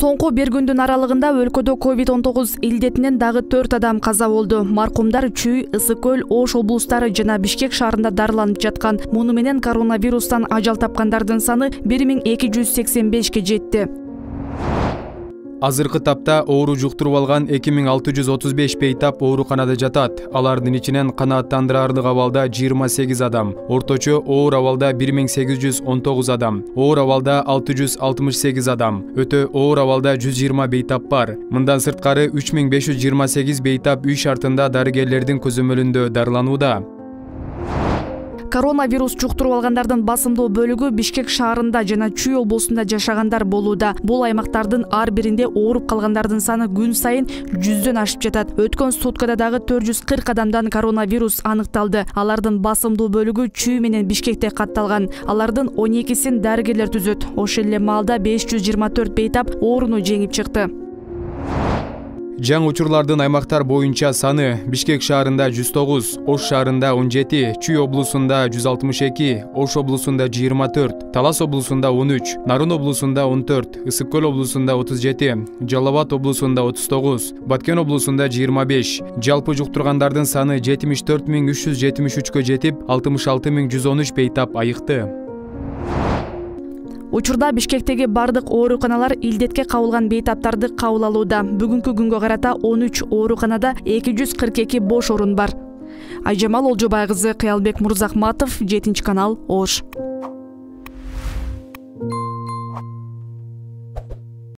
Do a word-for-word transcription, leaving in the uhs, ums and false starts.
Соңку бир күндүн аралыгында өлкөдө ковид он тогуз илдетинен дагы төрт адам каза болду. Маркумдар Чүй, Ысык көл, Ош облустары жана Бишкек шаарында дарыланып жаткан. Муну менен коронавирустан ажал тапкандардын саны бир миң эки жүз сексен бешке жетти. Азыркы тапта оору жуктуруп алган эки миң алты жүз отуз беш бейтап ооруканада жатат. Алардын ичинен канааттандырарлык абалда жыйырма сегиз адам, орточо оор абалда бир миң сегиз жүз он тогуз адам, оор абалда алты жүз алтымыш сегиз адам, өтө оор абалда жүз жыйырма бейтап бар. Мындан сырткары үч миң беш жүз жыйырма сегиз бейтап үй шартында дарыгерлердин көзөмөлүндө дарыланууда. Коронавирус жуктуруп алгандардын басымдуу бөлүгү Бишкек шаарында жана Чүй облусунда жашагандар болууда. Бул аймактардын ар биринде ооруп калгандардын саны күн сайын жүздөн ашып жатат. Өткөн суткада дагы төрт жүз кырк адамдан коронавирус аныкталды. Алардын басымдуу бөлүгү Чүй менен Бишкекте катталган. Алардын он экисин дарыгерлер түзөт. Ошол эле маалда беш жүз жыйырма төрт бейтап ооруну жеңип чыкты. Жаңы учурлардын аймактар боюнча саны: Бишкек шаарында жүз тогуз, Ош шаарында он жети, Чүй облусунда жүз алтымыш эки, Ош облусунда жыйырма төрт, Талас облусунда он үч, Нарын облусунда он төрт, Ысык көл облусунда отуз жети, Жалал Абад облусунда отуз тогуз, Баткен облусунда жыйырма беш. Жалпы жуктургандардын саны жетимиш төрт миң үч жүз жетимиш үчкө жетип, алтымыш алты миң жүз он үч бейтап айыкты. Учурда Бишкектеги бардык ооруканалар илдетке кабылган бейтаптарды кабыл алууда. Бүгүнкү күнгө карата он үч ооруканада эки жүз кырк эки бош орун бар. Айжамал Олжобай кызы, Кыялбек Мурзахматов, жетинчи канал, Ош.